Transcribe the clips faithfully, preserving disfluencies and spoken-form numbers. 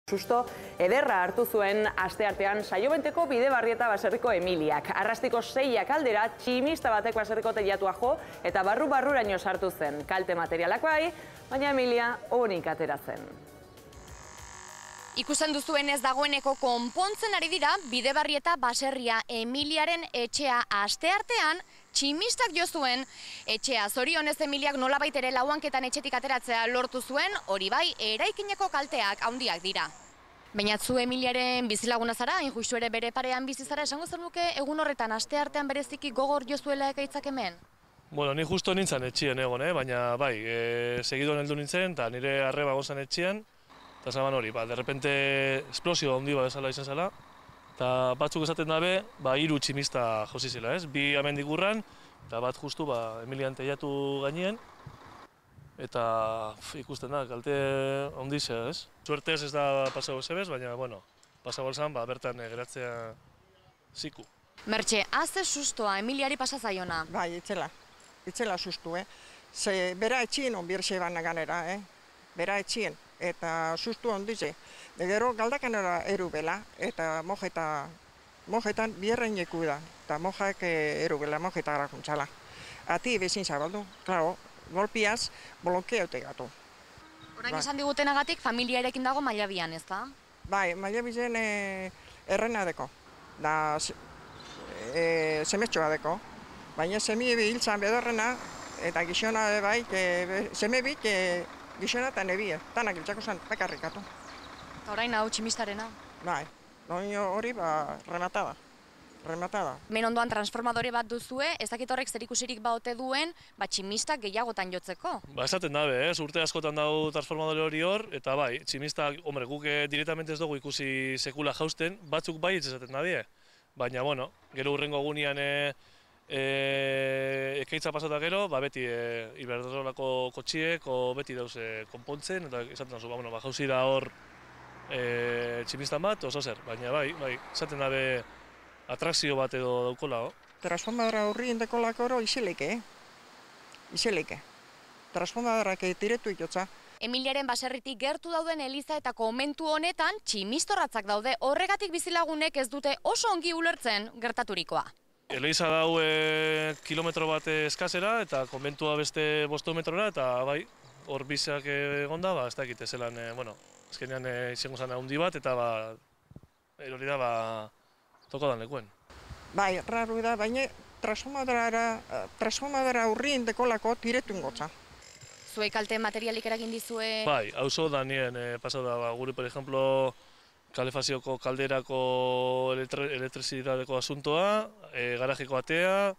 Susto ederra hartu zuen asteartean Saiobenteko Bidebarrieta baserriko Emiliak. Arrastiko seiak aldera tximista batek baserriko teilatua jo eta barru-barruraino sartu zen. Kalte materialak bai, baina Emilia onik atera zen. Ikusten duzuen ez dagoeneko konpontzen ari dira Bidebarrieta baserria Emiliaren etxea asteartean tximistak jo zuen etxea. Zorionez Emiliak nolabait ere lauanketan etxetik ateratzea lortu zuen, hori bai, eraikineko kalteak handiak dira. Baina zu Emiliaren bizilaguna zara, hain justu ere bere parean bizi zara, esango zenuke egun horretan asteartean bereziki gogor jo zuela ekaitzak hemen? Bueno, ni justo nintzen etxien egon, eh? Baina bai, e, segidoan heldu nintzen, eta nire arreba gozan etxien, eta zaban hori, ba, derrepente esplosio handi bat bezala izan zela, eta batzuk esaten dabe, ba, hiru tximista josi zela, ez? Bi amendik urran, eta bat justu, ba, Emilian teiatu gainien, eta pf, ikusten da, kalte handi zea, ez? Suertez ez da pasago zebez, baina, bueno, pasago zan, ba, bertan geratzea ziku. Mertxe, haze sustoa Emiliari pasazaiona? Bai, itzela, itzela sustu, eh? Ze bera etxien onbirxe bana ganera, eh? Bera etxien, eta sustu ondize. Gero galdakanera erubela, eta mojeta, mojetan bierreineku da, eta mojak erubela, mojeta gara juntzala. Ati bezin zabaldu, klaro, golpiaz, bolonkeaute gatu. Orain esan digutenagatik familiarekin dago Mailabian, ez da? Bai, Mailabizen e, errena deko, da e, semetxoa deko, baina semi hiltzan bedorrena, eta gizona bai, seme bit, gizona eta nebie, tanak hiltzako zen, bakarrikatu. Eta orain hau tximistarena? Bai, hori ba, rematada. Rematada. Men ondoan transformadore bat duzue, ez dakit horrek zerikusirik baote duen, ba tximistak gehiagotan jotzeko. Ba, esaten dabe, ez? Urte askotan dau transformadore hori hor, eta bai, tximistak, hombre, guk directamente ez dugu ikusi sekula jausten, batzuk bai ez esaten dabe. Baina, bueno, gero urrengo egunean e, e, ekaitza pasata gero, ba, beti e, Iberdrolako kotxiek, o beti dauz e, konpontzen, eta esaten dazu, ba, bueno, ba, jauzi da hor e, tximistan bat, oso zer, baina bai, bai, esaten dabe, atrakzio bat edo daukola, ho? Transformadora horri indekolako oro isileke, eh? Isileke. Transformadorak tiretu itotza. Emiliaren baserritik gertu dauden eliza eta komentu honetan tximistorratzak daude, horregatik bizilagunek ez dute oso ongi ulertzen gertaturikoa. Eliza dau e, kilometro bat eskazera eta konbentua beste bostometrora, eta bai, hor bizak egonda, ba, ez dakite zelan, e, bueno, azkenean e, izango zan handi bat, eta ba, hori da, ba, toko dan lekuen. Bai, raru da, baina transformadora urrien dekolako tiretu ingotza. Zuei kalte materialik eragin dizue? Bai, hauzo da nien eh, pasau da, ba, gure, por ejemplo, kalefazioko kalderako elektri elektrizidadeko asuntoa, e, garajeko atea,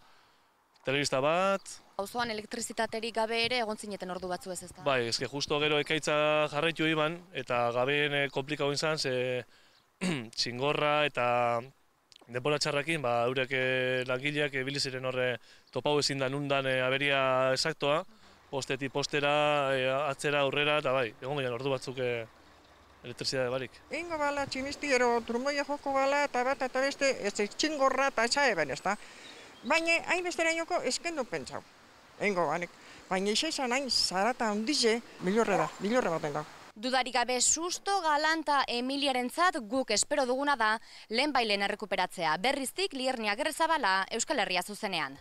telebista bat. Auzoan elektrizitaterik gabe ere egon zineten ordu batzu ez ezta? Bai, eske justo gero ekaitza jarraitu iban, eta gabeen e, komplikau izan, ze txingorra eta denbora txarrakin, ba, eurek langileak ebili ziren horre topau ezin da nundan e, aberia esaktoa, postetik postera, e, atzera, aurrera, eta bai, egon gaian ordu batzuk e, elektrizidade barik. Ingo bala, tximisti ero trumoia joko bala, eta bat eta beste, ez txingorra eta etxa eben ez da. Baina, hain bestera inoko eskendu pentsau. Ingo banek. Baina izan hain zarata handize, bilorre da, bilorre baten da. Dudarik gabe susto galanta Emiliarentzat guk espero duguna da lehen bailen errekuperatzea. Berriztik Liernia Gerrezabala, Euskal Herria zuzenean.